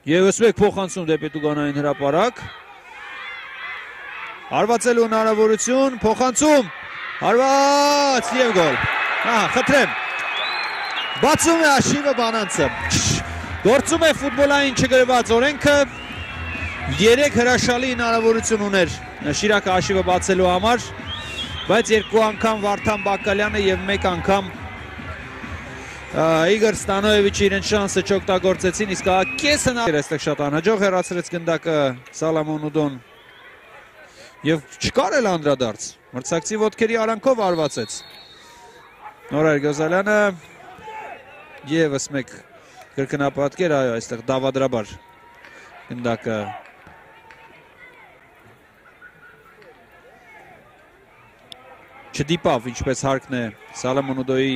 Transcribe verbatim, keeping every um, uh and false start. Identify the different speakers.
Speaker 1: Եվս մեկ փոխանցում դեպի Տուգանային հրապարակ։ Հարվածելու հնարավորություն, փոխանցում, հարված և գոլ։ Ահա, խնդրեմ։ Բացում է հաշիվը Բանանցը։ Գործում է ֆուտբոլային չգրված օրենքը։ Երեք հրաշալի հնարավորություն ուներ Շիրակը հաշիվը բացելու համար, բայց երկու անգամ Վարդան Բակալյանը և մեկ անգամ Իգոր Ստանոևիչը իրենց շանսը չօգտագործեցին, իսկ կես հնարավոր այստեղ շատ անհաջող հեռացրեց գնդակը Սալամոն Ուդոն և չկար էլ անդրադարձ, մրցակցի ոտքերի արանքով արվածեց Նորայր Գոզալյանը ևս մեկ կրկնապատկեր, այո, այստեղ դավադրաբար գնդակը չդիպավ, ինչպես հարկն է Սալամոն Ուդոյի